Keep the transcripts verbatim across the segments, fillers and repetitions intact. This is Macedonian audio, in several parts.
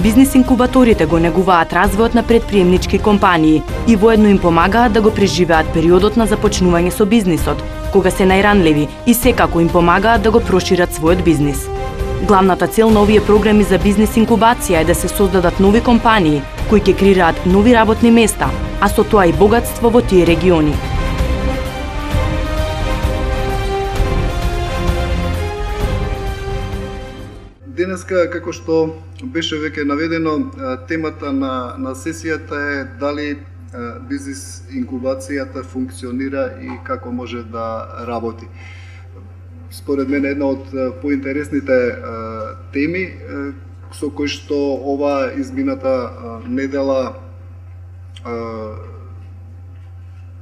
бизнис инкубаторите го негуваат развојот на предприемнички компании и воедно им помагаат да го преживеат периодот на започнување со бизнисот, кога се најранливи и секако им помагаат да го прошират својот бизнис. Главната цел на овие програми за бизнис инкубација е да се создадат нови компании кои ќе креираат нови работни места, а со тоа и богатство во тие региони. Денеска, како што беше веќе наведено, темата на, на сесијата е дали бизнис инкубацијата функционира и како може да работи. Според мене една од поинтересните теми со кои што ова измината недела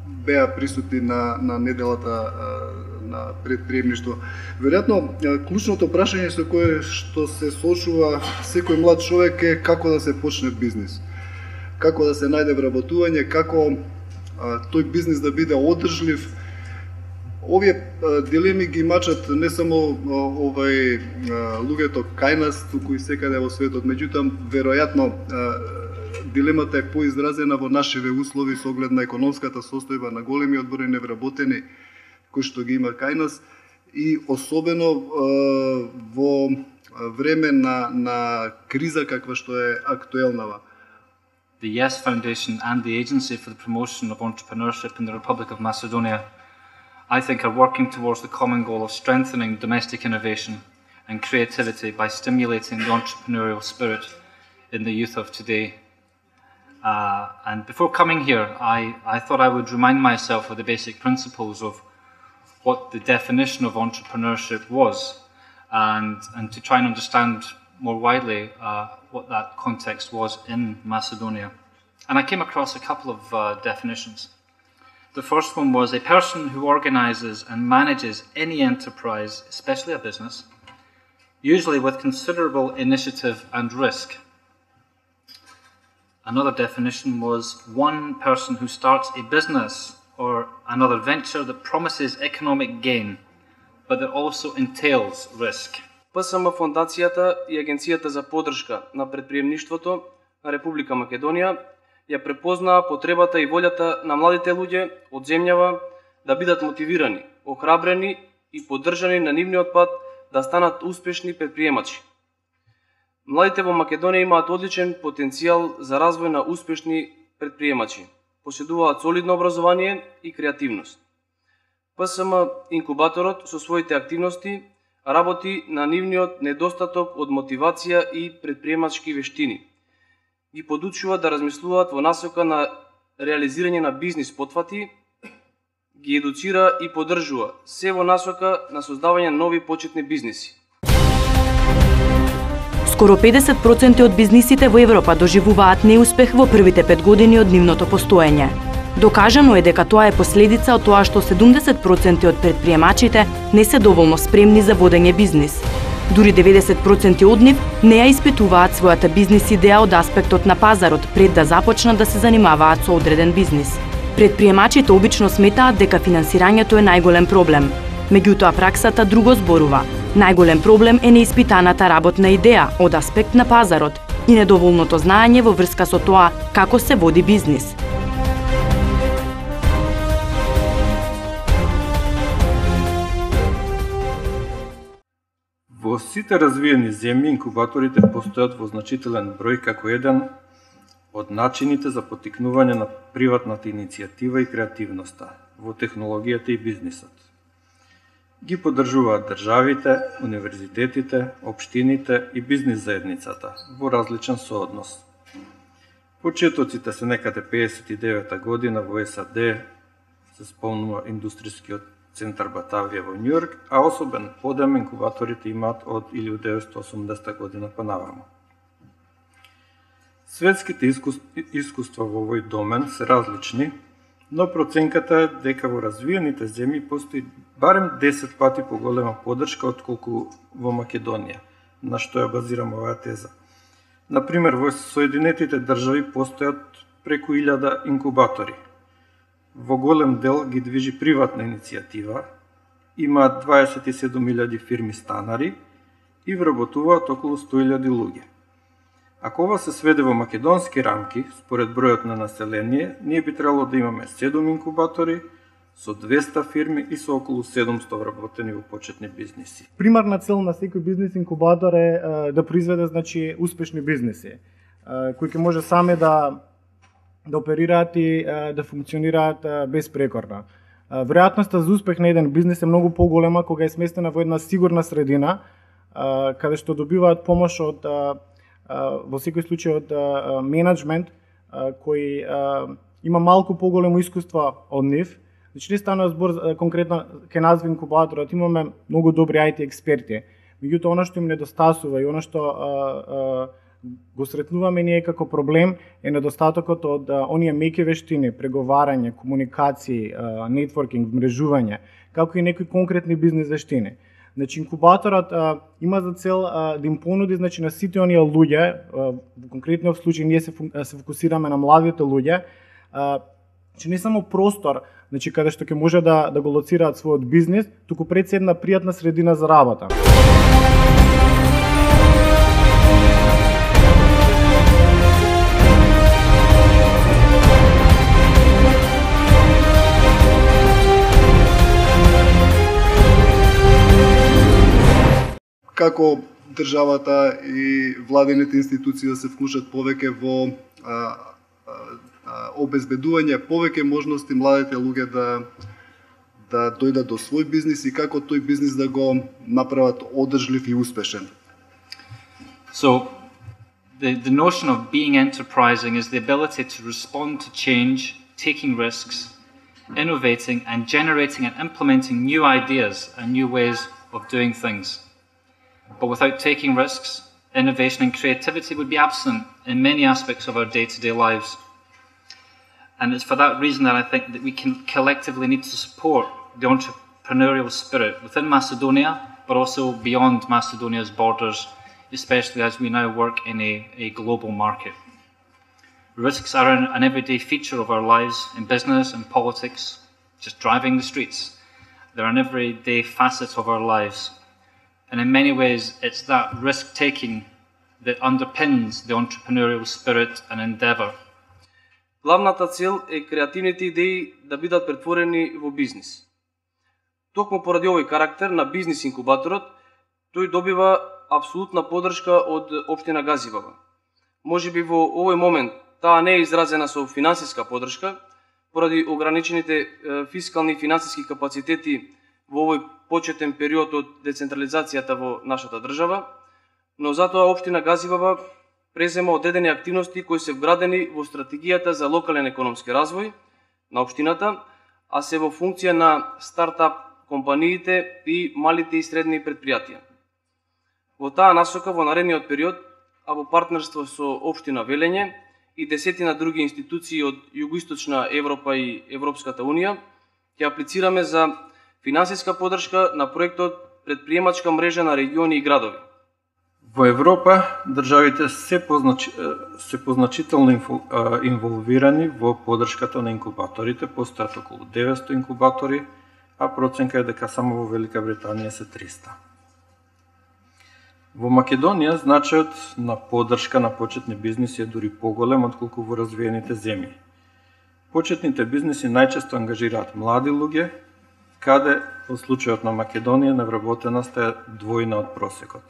беа присутни на, на неделата на предприемништво. Веројатно, клучното прашање со кое што се соочува секој млад човек е како да се почне бизнис. Како да се најде вработување, како а, тој бизнис да биде одржлив. Овие а, дилеми ги мачат не само а, овај а, луѓето кај нас, туку и секаде во светот. Меѓутоа, веројатно, а, дилемата е поизразена во нашиве услови со оглед на економската состојба на големиот број невработени кои што ги има кај нас и особено е, во време на, на криза каква што е актуелнава. The YES Foundation and the Agency for the Promotion of Entrepreneurship in the Republic of Macedonia, I think, are working towards the common goal of strengthening domestic innovation and creativity by stimulating the entrepreneurial spirit in the youth of today. Uh, and before coming here, I, I thought I would remind myself of the basic principles of what the definition of entrepreneurship was, and, and to try and understand more widely uh, what that context was in Macedonia. And I came across a couple of uh, definitions. The first one was a person who organizes and manages any enterprise, especially a business, usually with considerable initiative and risk. Another definition was one person who starts a business or another venture that promises economic gain, but that also entails risk. П С М Фондацијата и Агенцијата за поддршка на предприемништвото на Република Македонија ја препознаа потребата и волјата на младите луѓе од земјава да бидат мотивирани, охрабрени и поддржани на нивниот пат да станат успешни предприемачи. Младите во Македонија имаат одличен потенцијал за развој на успешни предприемачи. Поседуваат солидно образование и креативност. П С М инкубаторот со своите активности работи на нивниот недостаток од мотивација и предприемачки вештини. Ги подучува да размислуваат во насока на реализирање на бизнис потфати, ги едуцира и поддржува се во насока на создавање на нови почетни бизниси. Скоро педесет проценти од бизнисите во Европа доживуваат неуспех во првите пет години од нивното постоење. Докажано е дека тоа е последица од тоа што седумдесет проценти од предприемачите не се доволно спремни за водење бизнис. Дури деветдесет проценти од нив не ја испитуваат својата бизнис идеја од аспектот на пазарот пред да започнат да се занимаваат со одреден бизнис. Предприемачите обично сметаат дека финансирањето е најголем проблем. Меѓутоа праксата друго зборува. Најголем проблем е неиспитаната работна идеја од аспект на пазарот и недоволното знаење во врска со тоа како се води бизнис. Во сите развиени земји инкубаторите постојат во значителен број како еден од начините за поттикнување на приватната иницијатива и креативноста во технологијата и бизнисот. Ги поддржуваат државите, универзитетите, општините и бизнис заедницата во различен сооднос. Почетоците се некаде пеесет и девета година во С А Д, се спомнува индустрискиот центар Батавија во Њујорк, а особен подем инкубаторите имаат од илјадум деветстотини и осумдесета година па наваму. Светските искуства во овој домен се различни, но проценката е дека во развиените земји постои барем десет пати поголема поддршка отколку во Македонија, на што ја базирам оваа теза. Например, во Соединетите држави постојат преку илјада инкубатори. Во голем дел ги движи приватна иницијатива, имаат дваесет и седум илјади фирми станари и вработуваат околу сто илјади луѓе. Ако ова се сведе во македонски рамки, според бројот на население, ние би требало да имаме седум инкубатори со двеста фирми и со околу седумсто вработени во почетни бизниси. Примарна цел на секој бизнис инкубатор е да произведе значи успешни бизниси, кои ќе може сами да да оперираат и да функционираат безпрекорно. Веројатноста за успех на еден бизнис е многу поголема кога е сместена во една сигурна средина, каде што добиваат помош од во секој случај од менеджмент кој има малку поголемо искуство од нив. Значи не станува збор конкретно ке назви инкубаторот, имаме многу добри ай ти експерти. Меѓутоа она што им недостасува и она што а, а, го сретнуваме ние како проблем е недостатокот од а, оние меки вештини, преговарање, комуникации, а, нетворкинг, мрежување, како и некои конкретни бизнис вештини. Значи инкубаторот а, има за цел а, да им понуди значи на сите оние луѓе, а, во конкретниот случај ние се, се фокусираме на младите луѓе, а, че не само простор, значи каде што ќе може да да го лоцираат својот бизнис, туку пред се една пријатна средина за работа. Како државата и владените институции да се вклучат повеќе во а, обезбедување повеќе можности младите луѓе да да дојдат до свој бизнис и како тој бизнис да го направат одржлив и успешен. So the the notion of being enterprising is the ability to respond to change, taking risks, innovating and generating and implementing new ideas and new ways of doing things. But without taking risks, innovation and creativity would be absent in many aspects of our day-to-day lives. And it's for that reason that I think that we can collectively need to support the entrepreneurial spirit within Macedonia, but also beyond Macedonia's borders, especially as we now work in a, a global market. Risks are an, an everyday feature of our lives in business and politics, just driving the streets. They're an everyday facet of our lives. And in many ways, it's that risk-taking that underpins the entrepreneurial spirit and endeavour. Главната цел е креативните идеи да бидат претворени во бизнис. Токму поради овој карактер на бизнис инкубаторот, тој добива апсолутна поддршка од општина Газиваба. Можеби во овој момент таа не е изразена со финансиска поддршка, поради ограничените фискални и финансиски капацитети во овој почетен период од децентрализацијата во нашата држава, но затоа општина Газиваба презема одредени активности кои се вградени во стратегијата за локален економски развој на општината, а се во функција на стартап компаниите и малите и средни предпријатија. Во таа насока во наредниот период, а во партнерство со општина Велење и десетина други институции од Југоисточна Европа и Европската Унија, ќе аплицираме за финансиска поддршка на проектот Предприемачка мрежа на региони и градови. Во Европа, државите се, познач... се позначително инволвирани во поддршката на инкубаторите, постојат околу деветсто инкубатори, а проценка е дека само во Велика Британија се триста. Во Македонија, значајот на поддршка на почетни бизниси е дури поголем отколку во развиените земји. Почетните бизниси најчесто ангажираат млади луѓе, каде, во случајот на Македонија, невработеноста е двојна од просекот.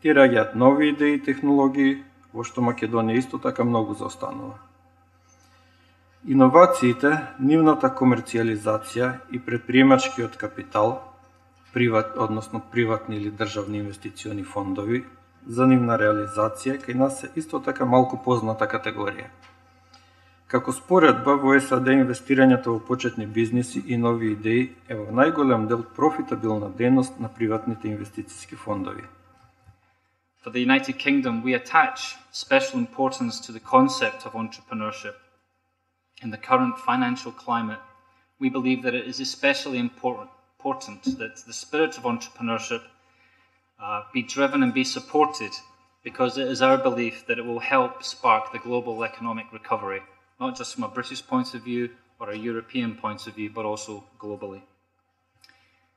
Тие раѓаат нови идеи и технологии, во што Македонија исто така многу заостанува. Иновациите, нивната комерцијализација и предприемачкиот капитал, приват, односно приватни или државни инвестициони фондови, за нивна реализација кај нас е исто така малку позната категорија. Како споредба во Е С А Д инвестирањето во почетни бизниси и нови идеи е во најголем дел профитабилна дејност на приватните инвестициски фондови. For the United Kingdom, we attach special importance to the concept of entrepreneurship. In the current financial climate, we believe that it is especially important, important that the spirit of entrepreneurship uh, be driven and be supported, because it is our belief that it will help spark the global economic recovery, not just from a British point of view or a European point of view, but also globally.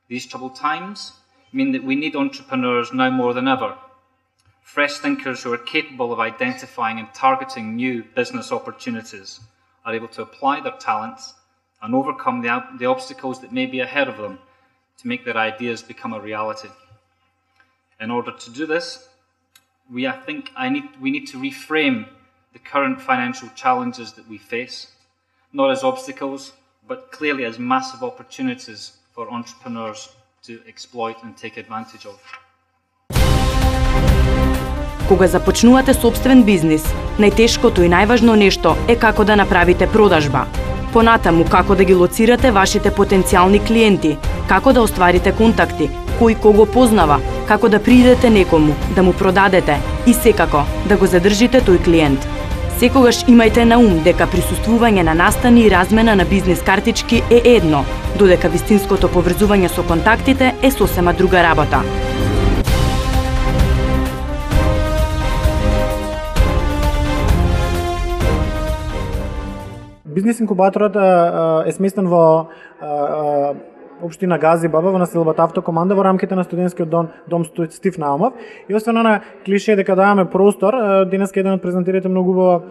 These troubled times mean that we need entrepreneurs now more than ever. Fresh thinkers who are capable of identifying and targeting new business opportunities are able to apply their talents and overcome the, the obstacles that may be ahead of them to make their ideas become a reality. In order to do this, we, I think I need, we need to reframe the current financial challenges that we face, not as obstacles, but clearly as massive opportunities for entrepreneurs to exploit and take advantage of. Кога започнувате собствен бизнис, најтешкото и најважно нешто е како да направите продажба. Понатаму како да ги лоцирате вашите потенцијални клиенти, како да остварите контакти, кој кого познава, како да придете некому, да му продадете и секако да го задржите тој клиент. Секогаш имајте на ум дека присуствување на настани и размена на бизнис картички е едно, додека вистинското поврзување со контактите е сосема друга работа. Бизнис инкубаторот е сместен во општина Газибаба во населбата Автокоманда во рамките на студентскиот дом, дом Стив Наумов. И освен на клише дека даваме простор, денеска еден од презентерите многу убаво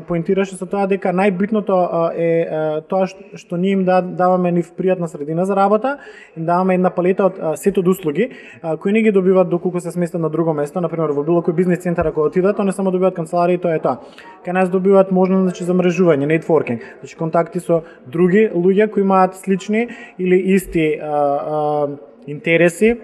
поинтираше со тоа дека најбитното е тоа што ние им даваме нив пријатна средина за работа, им даваме една палета од сет од услуги кои не ги добиваат доколку се сместат на друго место, например во било кој бизнис центар ако отидат, то не само добиваат канцеларија, тоа е тоа. Кај нас добиваат можност значи за мрежување, нетворкинг, значи контакти со други луѓе кои имаат слични или исти А, а, интереси,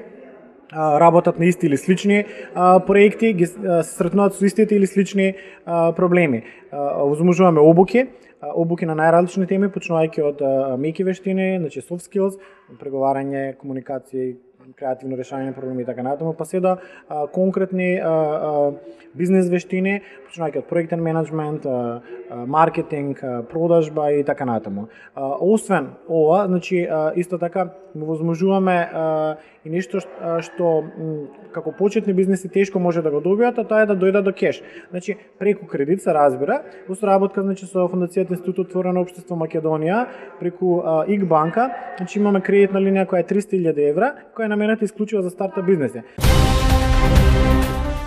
а, работат на исти или слични а, проекти, ги се сретнуваат со истите или слични а, проблеми. Возможуваме обуки, а, обуки на најразлични теми, почнувајќи од а, меки вештини, значи soft skills, преговарање, комуникација, креативно решање на проблеми и така натаму, па се до а, конкретни а, а, бизнес вештини, почнувајќи од проектен менеджмент, а, а, маркетинг, а, продажба и така натаму. А, освен ова, значи а, исто така му возможуваме а, и нешто што, што м, како почетни бизнеси тешко може да го добијат, а тоа е да дојдат до кеш. Значи преку кредит се разбира, во соработка значи со Фондацијата Институт Отворено општество Македонија, преку а, ИК банка, значи имаме кредитна линија која е триста илјади евра, која е наменета исклучиво за старта бизнеси.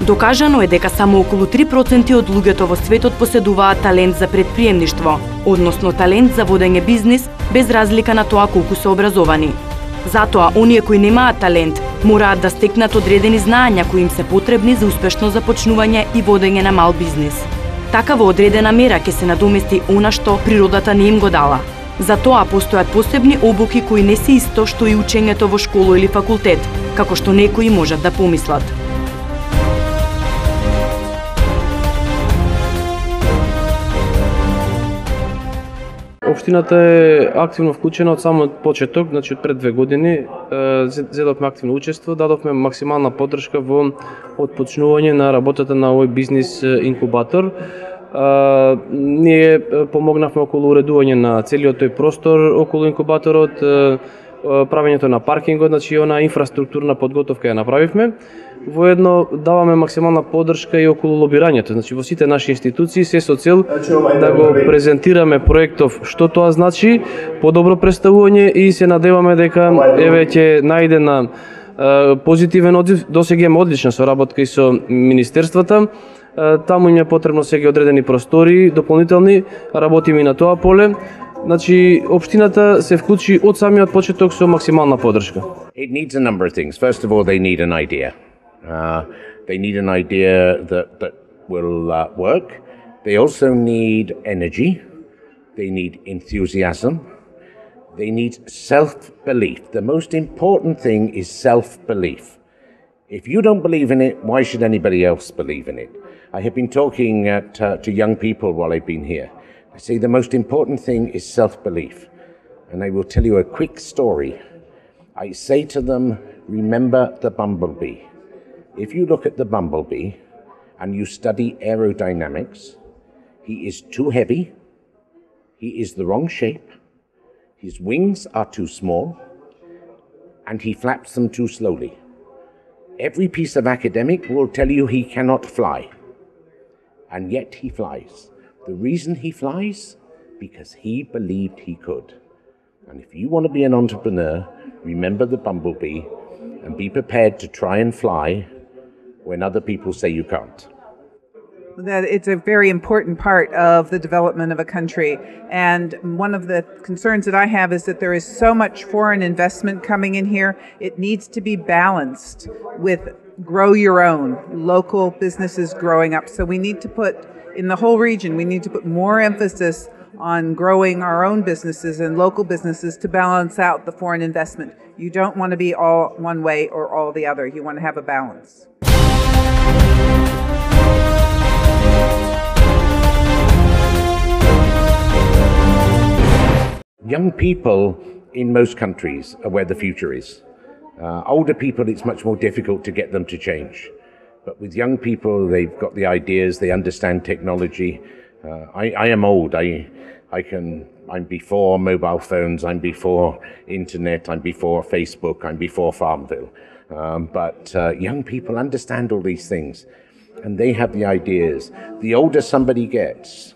Докажано е дека само околу три проценти од луѓето во светот поседуваат талент за предприемништво, односно талент за водење бизнис, без разлика на тоа колку се образовани. Затоа, оние кои немаат талент, мораат да стекнат одредени знаења кои им се потребни за успешно започнување и водење на мал бизнис. Така во одредена мера ќе се надомести она што природата не им го дала. Затоа постојат посебни обуки кои не се исто што и учењето во школа или факултет, како што некои можат да помислат. Општината е активно вклучена од самот почеток, значи од пред две години, зедовме активно учество, дадовме максимална поддршка во отпочнување на работата на овој бизнис инкубатор. Ние помогнавме околу уредување на целиот тој простор околу инкубаторот, правењето на паркингот, значи она инфраструктурна подготовка ја направивме. Воедно даваме максимална поддршка и околу лобирањето, значи во сите наши институции се со цел да го презентираме проектов што тоа значи, подобро представување и се надеваме дека еве ќе најде на позитивен одзив. Досега имаме одлична соработка и со министерствата. Таму им е потребно сега одредени простори, дополнителни, работиме и на тоа поле. Значи, општината се вклучи од самиот почеток со максимална поддршка. It needs a number of things. First of all, they need an idea. Uh, they need an idea that, that will uh, work. They also need energy. They need enthusiasm. They need self-belief. The most important thing is self-belief. If you don't believe in it, why should anybody else believe in it? I have been talking at, uh, to young people while I've been here. I say the most important thing is self-belief. And I will tell you a quick story. I say to them, remember the bumblebee. If you look at the bumblebee and you study aerodynamics, he is too heavy, he is the wrong shape, his wings are too small, and he flaps them too slowly. Every piece of academic will tell you he cannot fly, and yet he flies. The reason he flies? Because he believed he could. And if you want to be an entrepreneur, remember the bumblebee and be prepared to try and fly when other people say you can't. That it's a very important part of the development of a country. And one of the concerns that I have is that there is so much foreign investment coming in here. It needs to be balanced with grow your own, local businesses growing up. So we need to put, in the whole region, we need to put more emphasis on growing our own businesses and local businesses to balance out the foreign investment. You don't want to be all one way or all the other. You want to have a balance. Young people in most countries are where the future is. Uh, older people, it's much more difficult to get them to change. But with young people, they've got the ideas, they understand technology. Uh, I, I am old. I, I can, I'm before mobile phones, I'm before internet, I'm before Facebook, I'm before Farmville. Um, but uh, young people understand all these things, and they have the ideas. The older somebody gets,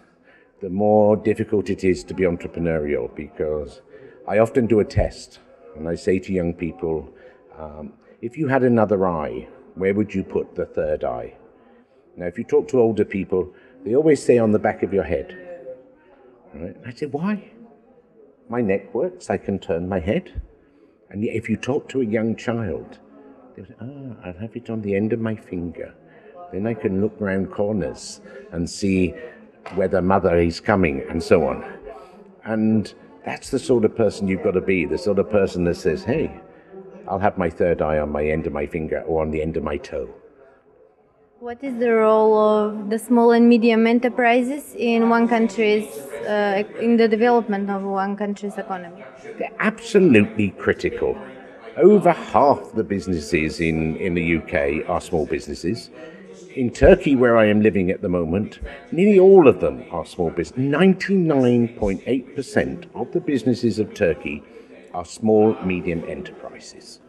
the more difficult it is to be entrepreneurial, because I often do a test, and I say to young people, um, if you had another eye, where would you put the third eye? Now, if you talk to older people, they always say on the back of your head. Right? I say, why? My neck works, I can turn my head. And yet if you talk to a young child, they'll say, ah, I'll have it on the end of my finger. Then I can look round corners and see whether mother is coming, and so on. And that's the sort of person you've got to be, the sort of person that says, hey, I'll have my third eye on my end of my finger or on the end of my toe. What is the role of the small and medium enterprises in one country's, uh, in the development of one country's economy? They're absolutely critical. Over half the businesses in, in the U K are small businesses. In Turkey, where I am living at the moment, nearly all of them are small business. ninety-nine point eight percent of the businesses of Turkey are small, medium enterprises.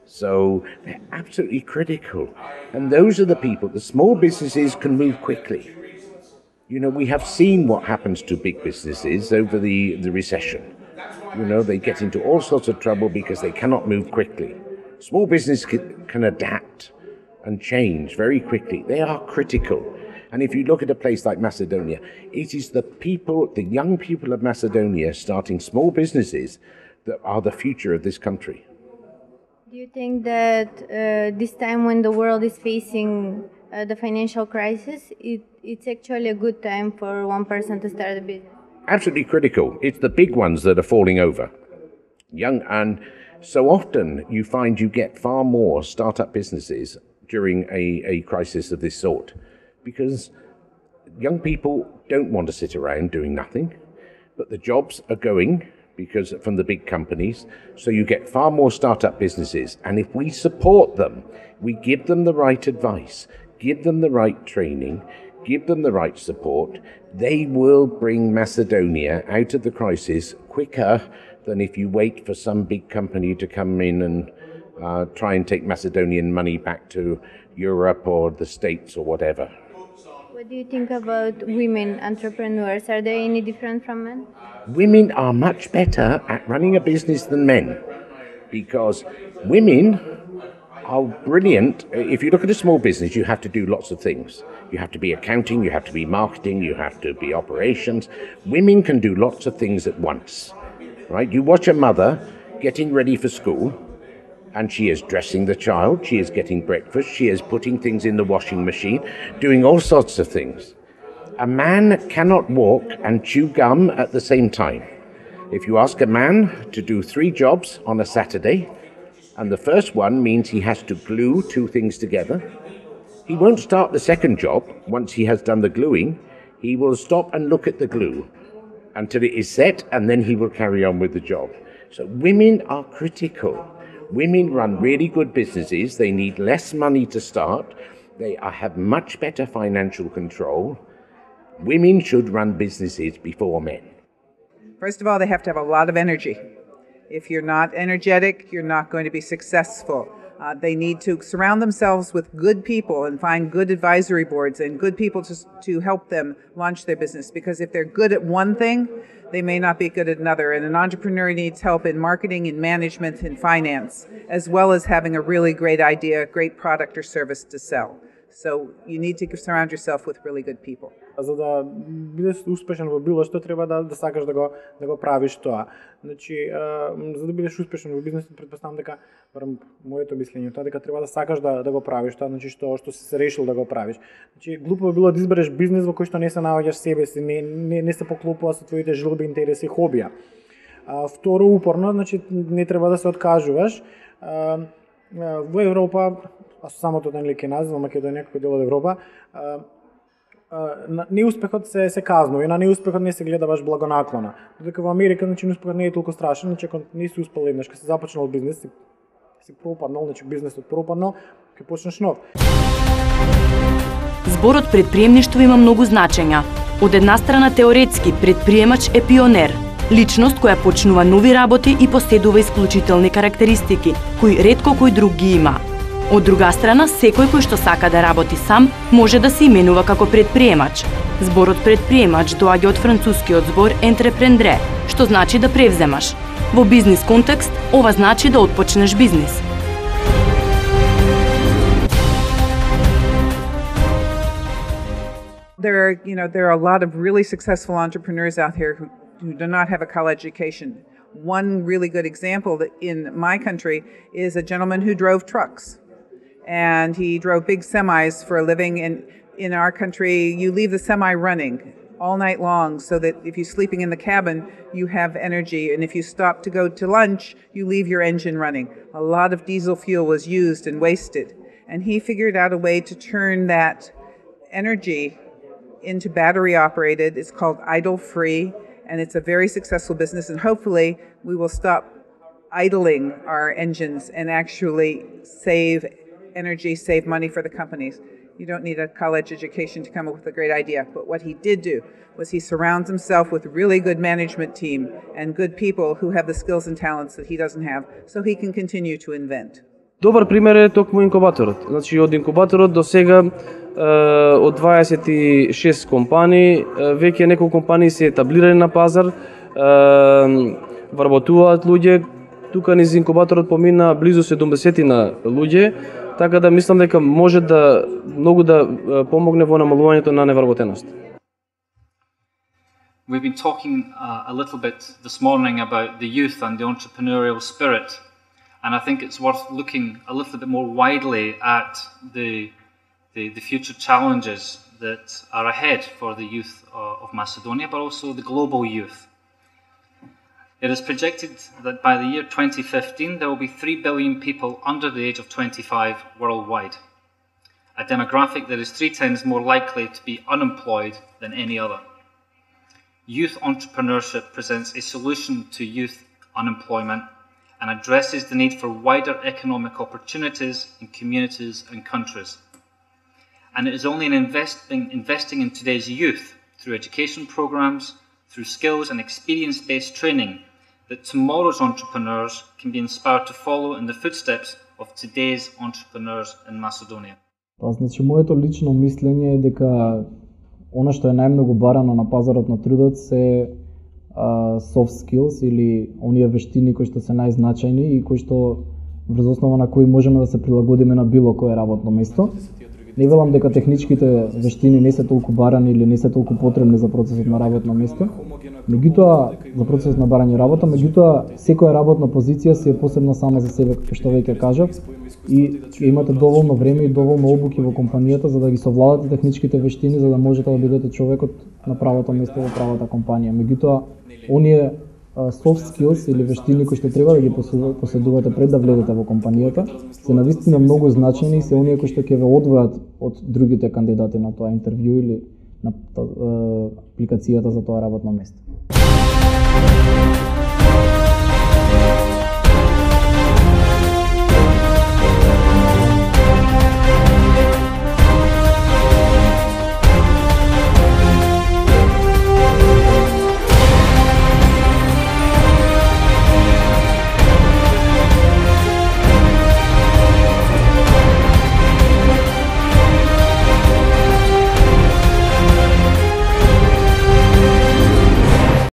So they're absolutely critical. And those are the people, the small businesses can move quickly. You know, we have seen what happens to big businesses over the, the recession. You know, they get into all sorts of trouble because they cannot move quickly. Small business can, can adapt and change very quickly. They are critical. And if you look at a place like Macedonia, it is the people, the young people of Macedonia starting small businesses that are the future of this country. Do you think that uh, this time when the world is facing uh, the financial crisis, it, it's actually a good time for one person to start a business? Absolutely critical. It's the big ones that are falling over. Young, and so often you find you get far more startup businesses during a, a crisis of this sort, because young people don't want to sit around doing nothing, but the jobs are going because from the big companies, so you get far more startup businesses. And if we support them, we give them the right advice, give them the right training, give them the right support, they will bring Macedonia out of the crisis quicker than if you wait for some big company to come in and uh, try and take Macedonian money back to Europe or the States or whatever. What do you think about women entrepreneurs? Are they any different from men? Women are much better at running a business than men, because women are brilliant. If you look at a small business, you have to do lots of things. You have to be accounting, you have to be marketing, you have to be operations. Women can do lots of things at once, right? You watch a mother getting ready for school, and she is dressing the child, she is getting breakfast, she is putting things in the washing machine, doing all sorts of things. A man cannot walk and chew gum at the same time. If you ask a man to do three jobs on a Saturday, and the first one means he has to glue two things together, he won't start the second job once he has done the gluing. He will stop and look at the glue until it is set, and then he will carry on with the job. So women are critical. Women run really good businesses. They need less money to start. They are, have much better financial control. Women should run businesses before men. First of all, they have to have a lot of energy. If you're not energetic, you're not going to be successful. Uh, they need to surround themselves with good people and find good advisory boards and good people to, to help them launch their business. Because if they're good at one thing, they may not be good at another. And an entrepreneur needs help in marketing, in management, in finance, as well as having a really great idea, great product or service to sell. So you need to surround yourself with really good people. За да бидеш успешен во било што треба да да сакаш да го да го правиш тоа. Значи, а, за да бидеш успешен во бизнисот, претпоставам дека, барем моето мислење тоа, дека треба да сакаш да да го правиш тоа, значи што што си се решил да го правиш. Значи, глупо би било да избереш бизнис во кој што не се наоѓаш себе си, не не, не се поклопува со твоите желби, интереси и хобија. А, второ, упорно, значи не треба да се откажуваш. А, а, во Европа, а со самото нели ке назвам Македонија како дел од Европа, а, на неуспехот се се казнува и на неуспехот не се гледа баш благонаклона. Додека во Америка, значи неуспехот не е толку страшен, значи ако не си успел еднаш, кога си започнал бизнес, си, си пропаднал, значи бизнесот пропаднал, ќе почнеш нов. Зборот предприемништво има многу значења. Од една страна теоретски предприемач е пионер, личност која почнува нови работи и поседува исклучителни карактеристики, кои ретко кој друг ги има. Од друга страна, секој кој што сака да работи сам, може да се именува како предприемач. Зборот предприемач доаѓа од францускиот збор entreprendre, што значи да превземаш. Во бизнис контекст, ова значи да отпочнеш бизнис. There are, you know, there are a lot of really successful entrepreneurs out here who, who do not have a college education. One really good example that in my country is a gentleman who drove trucks. And he drove big semis for a living. And in our country, you leave the semi running all night long so that if you're sleeping in the cabin, you have energy. And if you stop to go to lunch, you leave your engine running. A lot of diesel fuel was used and wasted. And he figured out a way to turn that energy into battery operated. It's called idle free. And it's a very successful business. And hopefully we will stop idling our engines and actually save energy, save money for the companies. You don't need a college education to come up with a great idea. But what he did do was he surrounds himself with a really good management team and good people who have the skills and talents that he doesn't have, so he can continue to invent. Добар пример е токму инкубаторот. Значи од инкубаторот до сега од дваесет и шест компании, веќе неколку компании се етаблирани на пазар, вработуваат луѓе. Тука низ инкубаторот помина близу седумдесет на луѓе, така да мислам дека може да многу да помогне во намалувањето на невработеност. We've been talking uh, a little bit this morning about the youth and the entrepreneurial spirit, and I think it's worth looking a little bit more widely at the the, the future challenges that are ahead for the youth uh, of Macedonia, but also the global youth. It is projected that by the year twenty fifteen, there will be three billion people under the age of twenty-five worldwide, a demographic that is three times more likely to be unemployed than any other. Youth entrepreneurship presents a solution to youth unemployment and addresses the need for wider economic opportunities in communities and countries. And it is only in investing, investing in today's youth through education programs, through skills and experience-based training, that tomorrow's entrepreneurs can be inspired to follow in the footsteps of today's entrepreneurs in Macedonia. Па, значи, моето лично мислење е дека она што е најмногу барано на пазарот на трудот се uh, soft skills или оние вештини кои што се најзначајни и кои што врз основа на кои можеме да се прилагодиме на било кое работно место. Не велам дека техничките вештини не се толку барани или не се толку потребни за процесот на работно место. Меѓутоа, за процесот на барање работа, меѓутоа секоја работна позиција си е посебна сама за себе, како што веќе кажав, и имате доволно време и доволно обуки во компанијата за да ги совладате техничките вештини за да можете да бидете човекот на правото место во правата компанија. Меѓутоа, оние soft skills или вештини кои што треба да ги поседувате пред да влезете во компанијата се навистина многу значајни и се оние кои што ќе ве одвојат од другите кандидати на тоа интервју или на апликацијата за тоа работно место.